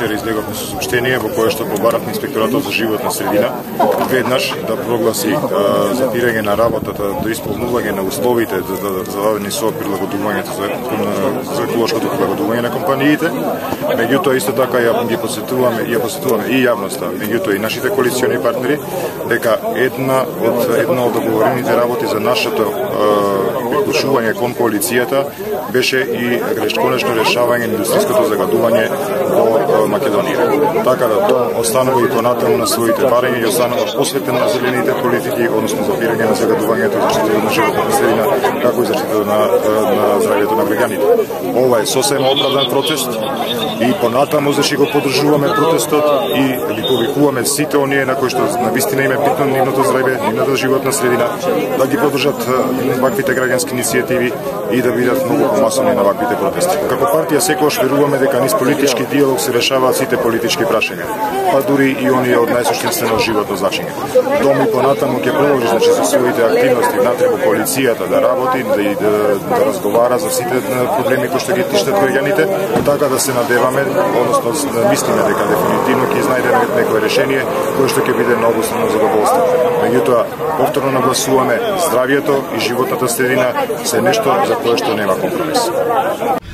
вчера излеговме со соопштение во кое што побаравме инспекторатот за животна средина веднаш да прогласи запирање на работата до исполнување на условите зададени со прилагодувањето за еколошкото прилагодување на компаниите. Меѓутоа исто така ја посетуваме и јавноста, меѓутоа и нашите коалициони партнери дека една од договорените работи за нашето приклучување кон коалицијата беше и конечно решавање на индустријското загадување во Македонија. Така да тоа останува и понатаму на своите барања и останува посветен на зелените политики, односно запирање на загадувањето, заштитата на животната средина, како и заштитата на здравјето на граѓаните. Ова е сосема оправдан протест и понатаму зашто го поддржуваме протестот и ги повикуваме сите оние на кои што навистина им е битно нивното здравје, нивната животна средина, да ги поддржат ваквите граѓански иницијативи и да бидат многу помасони на ваквите протести. Како партија секогаш веруваме дека низ политички диалог се решаваат сите политички прашања, па дури и оние од најсуштинствено животно значење. Дом и понатаму ќе продолжи со своите активности внатре во коалицијата да работи, да разговара за сите проблеми кои што ги тиштат граѓаните, така да се надеваме, односно мислиме дека дефинитивно ќе изнајдеме некое решение кое што ќе биде на обоstrано задоволство. Меѓутоа, повторно нагласуваме здравјето и животната средина се нешто за кое што нема компромис.